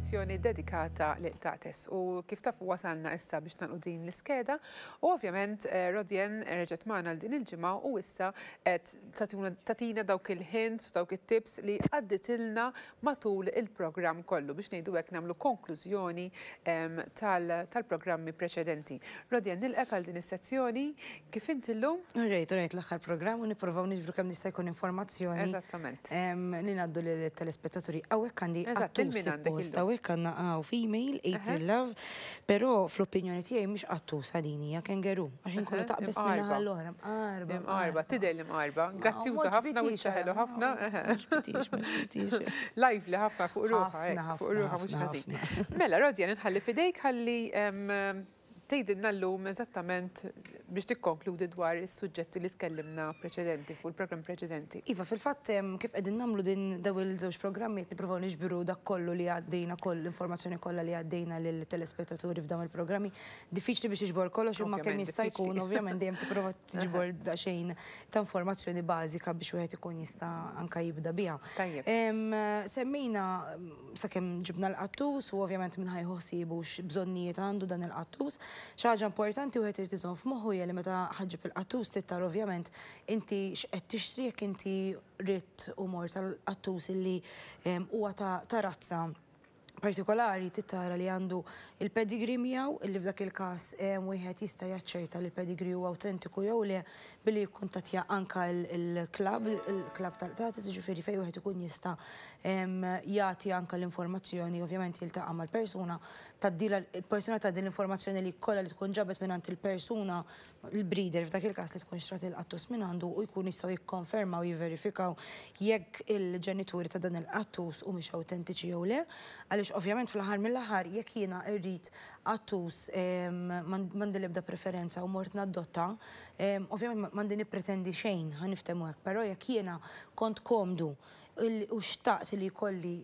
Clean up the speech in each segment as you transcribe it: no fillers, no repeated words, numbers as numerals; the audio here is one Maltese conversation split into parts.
is-sezzjoni dedikata lil Tates u kif tafu wasalna issa biex nagħlqu din l-iskeda u ovvjament eh, Rodjen reġgħet magħna għal din il-ġimgħa u issa qed tagħtina dawk il-hints u dawk it-tips li għadditilna matul il-programm kollu biex ngħidu hekk nagħmlu konklużjoni tal-programmi preċedenti. Rodjen nilqek għal din is-sezzjoni kif inti llum? Rejt, rejt l-aħħar programm u nippruvaw niġbru kemm nista' jkun informazzjoni. Eżattament. Li ngħaddu lill-telespettaturi. Hawnhekk għandi qattus suppost, hawnhekk għandna hawn female, April Love, però fl-opinjoni tiegħi mhix qattusa din hija kengeru, għax inkollha taqbeż minn naħa l-oħra, mqarba. Imqarba, tidher li mqarba. Grazzjuża ħafna u ħelu ħafna. Lively ħafna fuq ruħha, fuq ruħha mhux ħażin. Mela, Rodjan, inħalli f'idejk ħalli tgħidilna llum eżattament biex tikkonkludi dwar is-suġġetti li tkellimna preċedenti fuq il-programm preċedenti. Iva, fil-fatt kif qegħdin nagħmlu din daw il-żewġ programmi qed nippruvaw niġbru dak kollu li għaddejna koll l-informazzjoni kollha li għaddejna lill-telespettaturi f'dawn il-programmi. Diffiċli biex tiġbor kollox imma kemm jista' jkun ovvjament dejjem tipprova tiġbor daqsxejn ta' informazzjoni bażika biex wieħed ikun jista' anke jibda biha. Semmejna sakemm ġibna l-qattus u ovvjament min ħa jieħu ħsiebu x'bżonnijiet għandu dan il-qattus. Xi ħaġa importanti wieħed irid iżomm f'moħħu hija li meta ħa ġġib il-qattus trid tara ovvjament inti x'qed tixtri jekk inti ridt u mort għal qattus illi huwa ta' razza partikolari trid tara li għandu il-pedigree miegħu illi f'dak il-każ wieħed jista' jaċċerta li l-pedigree huwa awtentiku jew le billi jikkuntattja anke l-klabb, il-klabb tal-qtates, jiġifieri fejn wieħed ikun jista' jagħti anke l-informazzjoni, ovvjament jiltaqa' mal-persuna, tgħaddilha, il-persuna tgħaddi l-informazzjoni li kollha li tkun ġabet mingħand il-persuna, il-breeder f'dak il-każ li tkun xtrat il-qattus mingħandu u jkunu jistgħu jikkonfermaw, jivverifikaw jekk il-ġenituri ta' dan il-qattus humiex awtentiċi jew le. Għaliex ovvjament fl-aħħar mill-aħħar jekk jiena rrid qattus m'għandi l-ebda preferenza u mort nadotta, ovvjament m'għandi nippretendi xejn, ħa niftehmu hekk, però jekk jiena kont komdu u xtaqt li jkolli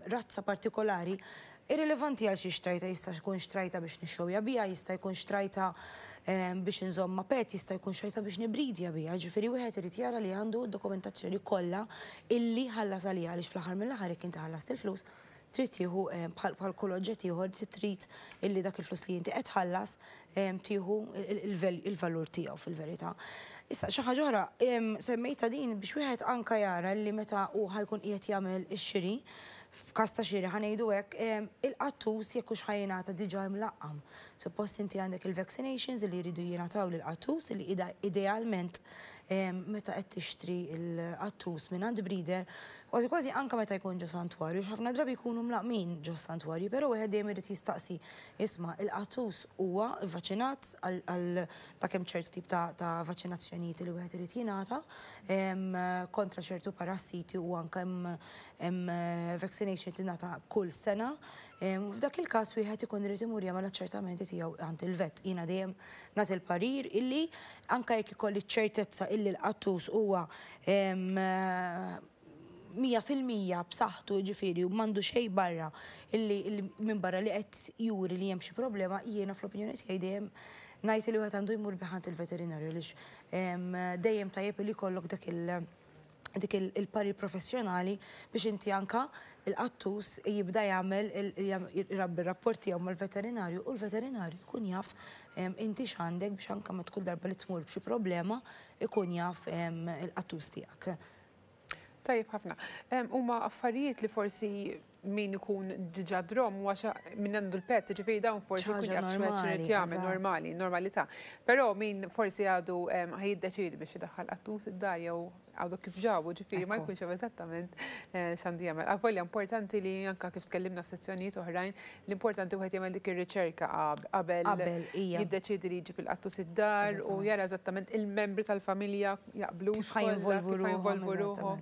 razza partikolari, irrilevanti għal xiex xtrajtha, jista' jkun xtrajtha biex nixxowja biha, jista' jkun xtrajtha biex inżommha pet, jista' jkun xtrajtha biex nibridja biha, jiġifieri wieħed irid jara li għandu d-dokumentazzjoni kollha illi ħallas għaliha għaliex fl-aħħar mill-aħħar jekk inti ħallast il-flus trid tieħu bħal kull oġġett ieħor trid illi dak il-flus li inti qed tħallas tieħu il-valur tiegħu fil-verità. Issa xi ħaġa oħra, semmejtha din biex wieħed anke jara li meta hu ħa jkun qiegħed jagħmel ix-xiri, f'każ ta' xiri ħa ngħidu hekk, il-qattus jekk hux ħa jingħata diġà imlaqqam. Suppost inti għandek il-vaccinations li jridu jingħataw lill-qattus li idealment meta qed tixtri l-qattus mingħand breeder, kważi kważi anke meta jkun ġo santwarju, għax ħafna drabi jkunu mlaqqmin ġo santwarju, però wieħed dejjem irid jistaqsi, isma' il-qattus huwa vvaċinat għal ta' kemm ċertu tip ta' vaċinazzjonijiet li wieħed irid jingħata kontra ċertu parassiti u anke hemm vaccination tingħata kull sena. F'dak il-każ wieħed ikun irid imur jagħmel aċċertamenti tiegħu għand il-vet. Jiena dejjem nagħti l-parir illi anke jekk ikolli ċ-ċertezza illi l-qattus huwa 100% b'saħħtu jiġifieri u m'għandu xejn barra illi minbarra li qed juri li hemm xi problema, jiena fl-opinjoni tiegħi dejjem ngħid illi wieħed għandu jmur bih għand il-veterinarju għaliex dejjem tajjeb illi jkollok dak il- dik il-parir professjonali biex inti anka il-qattus jibda jagħmel irabbi r-rapport tiegħu mal-veterinarju u l-veterinarju jkun jaf inti x'għandek biex anka meta kull darba li tmur b'xi problema jkun jaf il-qattus tiegħek. Tajjeb ħafna. Huma affarijiet li forsi min ikun diġà drom huwa min għandu l-pet, ġifieri dawn forsi jkun jaf x'qed jagħmel normali, normalità. Però min forsi għadu ħa jiddeċiedi biex idaħħal qattus id-dar jew għadu kif ġabu, ġifieri ma jkunx jaf eżattament x'għandu jagħmel. Avolja importanti li anke kif tkellimna f'sezzjonijiet oħrajn, l-importanti wieħed jagħmel dik ir-riċerka qabel jiddeċiedi li jġib il-qattus id-dar u jara eżattament il-membri tal-familja jaqblux kif ħa jinvolvu ruħhom.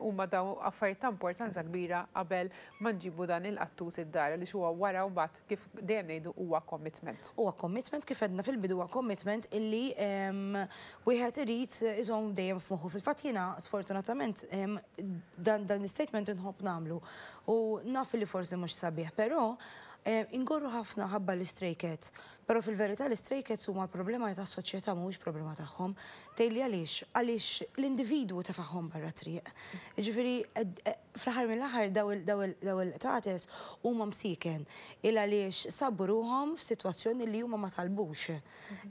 Huma dawn affarijiet ta' importanza kbira qabel ma nġibu dan il-qattus id-dar għaliex huwa wara mbagħad kif dejjem ngħidu huwa commitment. Huwa commitment kif għedna fil-bidu huwa commitment illi wieħed irid iżomm dejjem f'moħħu. Fil-fatt jiena sfortunatament dan l-istatement inħobb nagħmlu u naf li forsi mhux sabiħ, però Ingorru ħafna ħabba l-istray cats, però fil-verità l-istray cats huma l-problema tas-soċjetà, mhuwiex problema tagħhom. Tgħidli għaliex? Għaliex l-individwu tefagħhom barra triq. Jiġifieri fl-aħħar mill-aħħar daw il-qtates huma msieken il għaliex sabu ruħhom f'sitwazzjoni li huma ma talbux.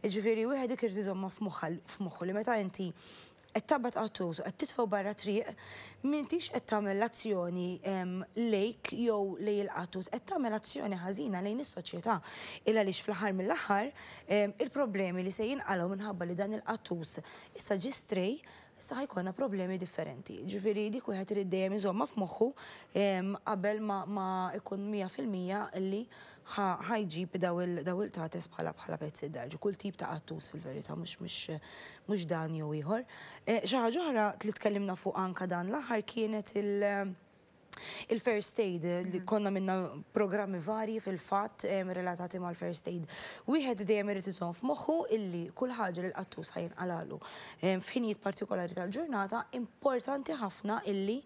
Jiġifieri wieħed dik irid iżommha f'moħħu li meta inti qed taqbad qattus u qed titfgħu barra triq, m'intix qed tagħmel azzjoni lejk jew lejn il-qattus, qed tagħmel azzjoni ħażina lejn is-soċjetà. Il għaliex fl-aħħar mill-aħħar il-problemi li se jinqalgħu minħabba li dan il-qattus issa ġie stray, issa ħa jkollna problemi differenti. Ġifieri dik wieħed irid dejjem iżommha f'moħħu qabel ma ikun 100% li ħa jġib daw il-qtates bħala pets id-dar. Kull tip ta' qattus fil-verità, mhux dan jew ieħor. Xi ħaġa oħra li tkellimna fuq anka dan l-aħħar kienet il-first aid, li konna minna programmi varji fil-fatt relatati mal-first aid. Wieħed dejjem irid iżomm f'moħħu illi kull ħaġa li l-qattus ħa jinqalalu f'ħinijiet partikolari tal-ġurnata, importanti ħafna illi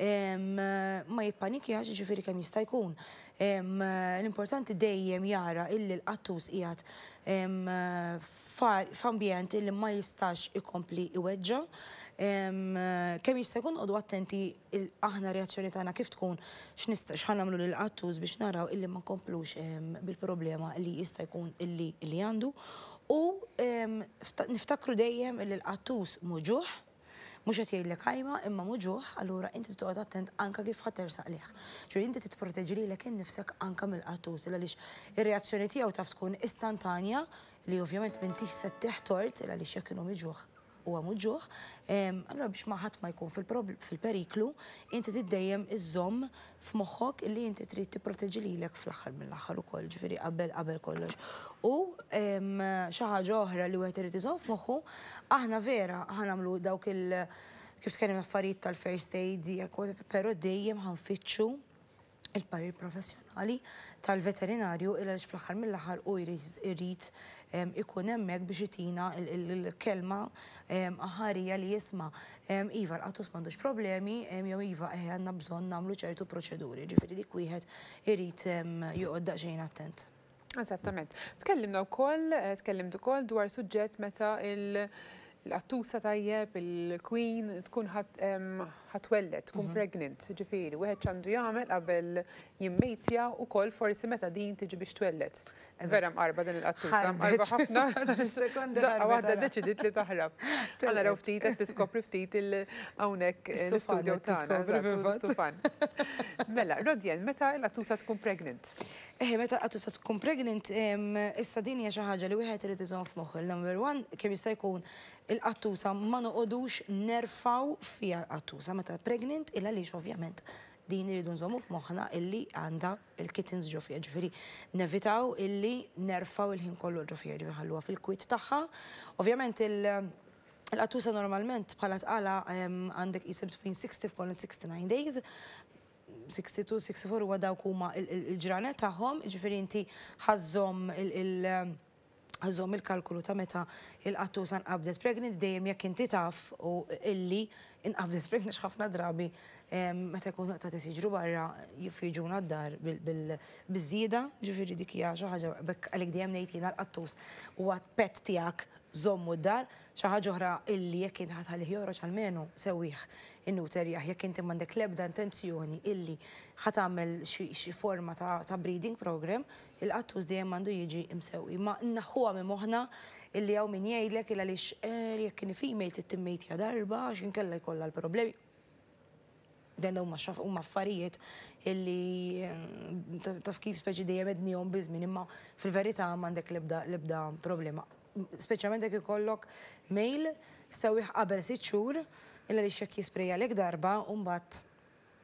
ma jippanikjax, ġifieri kemm jista' jkun. L-importanti dejjem jara illi l-qattus qiegħed f'ambjent illi ma jistax ikompli iweġġa. Kemm jista' jkun qogħdu attenti aħna reazzjoni tagħna kif tkun, x'ħa nagħmlu lill-qattus biex naraw illi ma nkomplux bil-problema li jista' jkun illi għandu. U niftakru dejjem illi l-qattus muġugħ, mhux qed jgħidlek ħajma imma muġugħ, allura inti toqgħod attent anka kif ħa tersaq lih. Ġifieri inti titproteġi lilek innifsek anka mill-qattus, għaliex ir-reazzjoni tiegħu taf tkun istantanja li ovvjament m'intix se ttih tort għaliex jekk inhu miġugħ huwa muġugħ. Allura biex ma ħadd ma jkun fil-periklu, inti tiddejjem iżżomm f'moħħok illi inti trid tipproteġi lilek fl-aħħar mill-aħħar ukoll, ġifieri qabel kollox. U xi ħaġa oħra li wieħed irid iżomm f'moħħu, aħna vera ħa nagħmlu dawk il kif tkellimna affarijiet tal-first aid, però dejjem ħa nfittxu il-parir professjonali tal-veterinarju, il għaliex fl-aħħar mill-aħħar u jrid ikun hemmhekk biex itina il-kelma aħarija li jisma' iva, l-qattus m'għandux problemi, jew iva, għandna bżonn nagħmlu ċertu proċeduri. Ġifieri dik wieħed irid joqgħod daqsxejn attent. Eżattament. Tkellimna wkoll, tkellimt ukoll dwar suġġett meta il-qattusa, tajjeb, il-queen tkun ħa twelled, tkun pregnant, ġifieri, wieħed x'għandu jagħmel qabel jimmejtja u kol forsi meta din tiġi biex twelled. Vera mqarba din il-qattusa, mqarba ħafna. Daqqa waħda deċidiet li taħrab. Ħa naraw ftit qed tiskopri ftit il-hawnhekk l-istudio tagħna. Stufan. Mela, Rodjen, meta l-qattusa tkun pregnant? Meta l-qattusa tkun pregnant, issa din hija xi ħaġa li wieħed irid iżomm f'moħħu. Number one, kemm jista' jkun il-qattusa ma noqogħdux nerfaw fiha l-qattusa meta pregnant, il għaliex ovvjament din iridu nżommu f'moħħna illi għandha il-kittens ġo fiha, ġifieri nevitaw illi nerfaw il-ħin kollu ġo fiha, ġifieri ħalluha fil-kwit tagħha. Ovvjament il-qattusa normalment bħala tqala għandek qisha between 64 and 69 days, 62, 64 huwa dawk huma il-ġranet tagħhom, ġifieri inti ħa żżomm il-kalkulu ta' meta il-qattusa nqabdet pregnant, dejjem jekk inti taf u illi inqabdet pregnant. Ħafna drabi meta jkun qtates jiġru barra jiġuna d-dar biż-żieda, ġifieri dik hija xi ħaġa bekk għalik dejjem ngħid jiena l-qattus huwa pet tiegħek, żommu d-dar. Xi ħaġa oħra illi jekk inti ħa tħallih joħroġ, almenu sewwih, innewterjah, jekk inti m'għandek l-ebda intenzjoni illi ħa tagħmel xi forma ta' breeding program, il-qattus dejjem għandu jiġi imsewwi. Ma naħuha minn moħħna illi hawn min jgħidlek il għaliex jekk kien female trid timmejtja darba għax inkella jkollha l-problemi. Dan huma affarijiet illi taf kif speċi dejjem ednihom biż-żmien, imma fil-verità m'għandek l-ebda problema. Speċjalment jekk ikollok male, sewwih qabel 6 xhur, illa li xekk jisprejja lek darba u mbagħad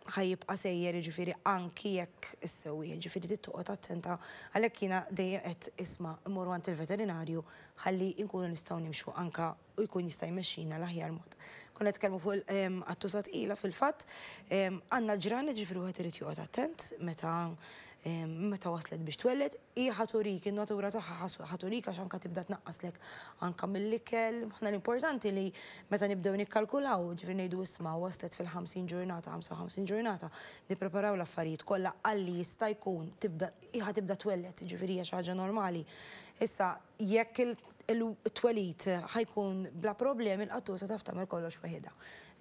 ħa jibqa' sejjer, ġifieri anki jekk issewwi, ġifieri trid toqgħod attenta. Għalhekk jiena dejjem qed isma' immorru għand il-veterinarju ħalli nkunu nistgħu nimxu anka u jkun jista' jmexxina l-aħjar mod. Konna nitkellmu fuq il-qattusa tqila fil-fatt, għandna ġranet, ġifieri wieħed irid joqgħod attent meta Meta waslet biex twelled, hi ħa turik, in-natura tagħha ħa turik għax anke tibda tnaqqaslek anke mill-ikel. Aħna l-importanti li meta nibdew nikkalkulaw, ġifieri ngħidu isma' waslet fil-50 ġurnata, 55 ġurnata, nippreparaw l-affarijiet kollha għalli jista' jkun tibda hi ħa tibda twelled, ġifieri hija xi ħaġa normali. Issa jekk il-twelid ħa jkun bla problemi l-qattusa taf tagħmel kollox waħidha.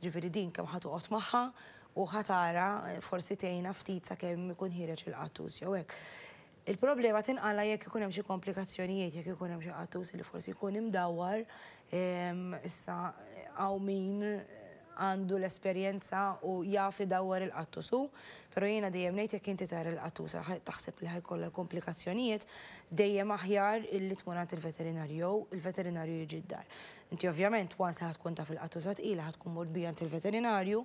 Ġifieri din kemm ħa toqgħod magħha u ħa tara forsi tgħinha ftit sakemm ikun ħiereġ il-qattus jew hekk. Il-problema tinqala' jekk ikun hemm xi komplikazzjonijiet, jekk ikun hemm xi qattus li forsi jkun imdawwar, issa hawn min għandu l-esperjenza u jaf idawwar il-qattus hu, però jiena dejjem ngħid jekk inti tara l-qattusa taħseb li ħa jkollha l-komplikazzjonijiet, dejjem aħjar illi tmur għand il-veterinarju jew il-veterinarju jiġi d-dar. Inti ovvjament once li ħa tkun taf il-qattusa tqila ħa tkun mort biha għand il-veterinarju,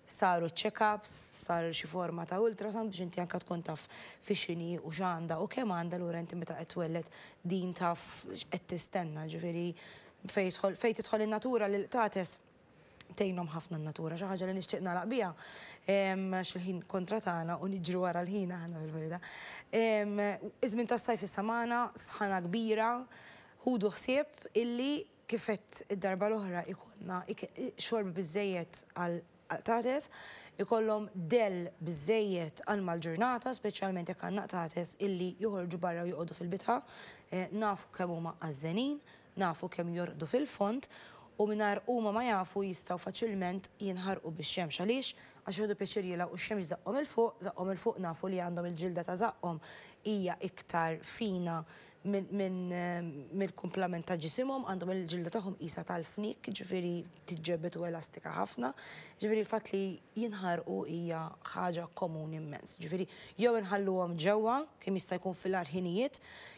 saru check-ups, sar xi forma ta' ultrasound biex inti anke tkun taf fi x'inhi u x'għandha u kemm għandha allura inti meta qed twelled din taf x'qed tistenna, ġifieri fejn jidħol fejn tidħol in-natura lill-qtates tgħinhom ħafna n-natura. Xi ħaġa li nixtieq nagħlaq biha għax il-ħin kontra tagħna u niġru wara l-ħin aħna fil-verità. Iż-żmien tas-sajf issa magħna, sħana kbira, Ħudu ħsieb illi kif għedt id-darba l-oħra jkollna xorb biżżejjed għall-qtates, ikollhom dell biżżejjed għal mal-ġurnata, speċjalment jekk għandna qtates illi joħorġu barra u joqogħdu fil-bitħa. Nafu kemm huma għażżenin, nafu kemm jorqdu fil-fond u mingħajr huma ma jafu jistgħu faċilment jinħarqu bix-xemx. Għaliex? Għax jieħdu pjaċir jilgħu x-xemx żaqqhom 'il fuq, żaqqhom 'il fuq nafu li għandhom il-ġilda ta' żaqqhom hija iktar fina mill-kumplament ta' ġisimhom, għandhom il-ġilda tagħhom qisha tal-fniek, jiġifieri tiġġebbed u elastika ħafna. Jiġifieri l-fatt li jinħarqu hija ħaġa komuni immens. Jiġifieri jew inħalluhom ġewwa kemm jista' jkun fil-agħar ħinijiet,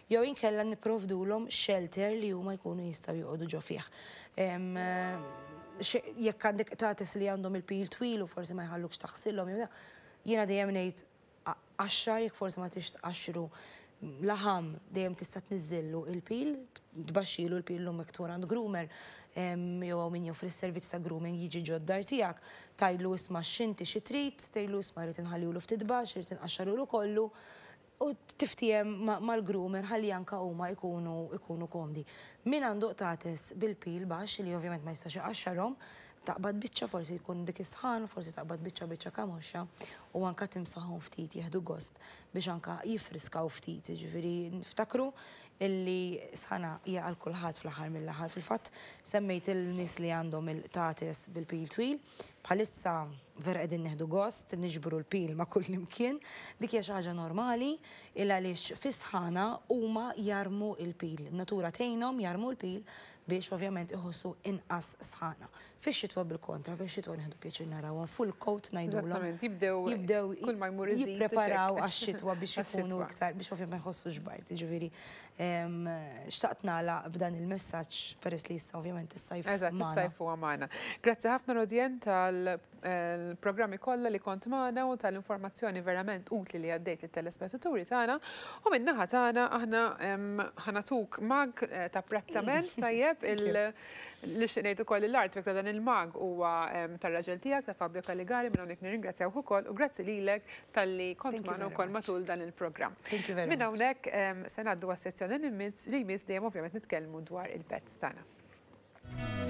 jew inkella nipprovdulhom shelter li huma jkunu jistgħu joqogħdu ġo fih. Jekk għandek qtates li għandhom il-pil twil u forsi ma jħallukx taħsilhom jew jiena dejjem ngħid Qaxxar, jekk forsi ma tridx tqaxxru laħam, dejjem tista' tniżżillu il-pil, tbaxxilu l-pil llum jekk tmur għand groomer jew hawn min joffri s-servizz ta' grooming jiġi ġod-dar tiegħek, tgħidlu isma' x'inti xi trid, tgħidlu isma' rrid inħallihulu ftit baxx, irrid inqaxxarhulu kollu u tiftiehem mal-groomer ħalli anke huma jkunu jkunu komdi. Min għandu qtates bil-pil baxx li ovvjament ma jistax iqaxxarhom, Taqbad biċċa forsi jkun dik is-sħan, forsi taqbad biċċa biċċa kamoxxa u anka timsaħhom ftit jieħdu gost biex anka jiffriskaw ftit. Jiġifieri niftakru illi sħana hija għal kulħadd fl-aħħar mill-aħħar. Fil-fatt semmejt il-nies li għandhom il-qtates bil-pil twil. Bħalissa vera qegħdin nieħdu gost niġbru l-pil ma' kullimkien. Dik hija xi ħaġa normali il għaliex fis-sħana huma jarmu l-pil. In-natura tgħinhom jarmu l-pil biex ovvjament iħossu inqas sħana. Fix-xitwa bil-kontra, fix-xitwa nieħdu pjaċir narawhom full coat ngħidulhom. Eżattament, jibdew jibdew kull ma jmur iżid jippreparaw għax-xitwa biex ikunu iktar biex ovvjament ma jħossux bard. Jiġifieri xtaqt nagħlaq b'dan il-messaġġ peress li issa ovvjament is-sajf Eżatt, is-sajf huwa magħna. Grazzi ħafna Rodienne tal-programmi kollha li kont magħna u tal-informazzjoni verament utli li għaddejt lit-telespettaturi tagħna. U min-naħa tagħna aħna ħa nagħtuk mug ta' apprezzament tajjeb il Nixtieq ngħid ukoll li l-artwork ta' dan il-mug huwa tar-raġel tiegħek ta' Fabio Caligari minn hawnhekk nirringrazzjawh ukoll u grazzi lilek talli kont magħna wkoll matul dan il-programm. Minn hawnhekk se ngħaddu għas-sezzjoni li jmiss li jmiss dejjem ovvjament nitkellmu dwar il-pets tagħna.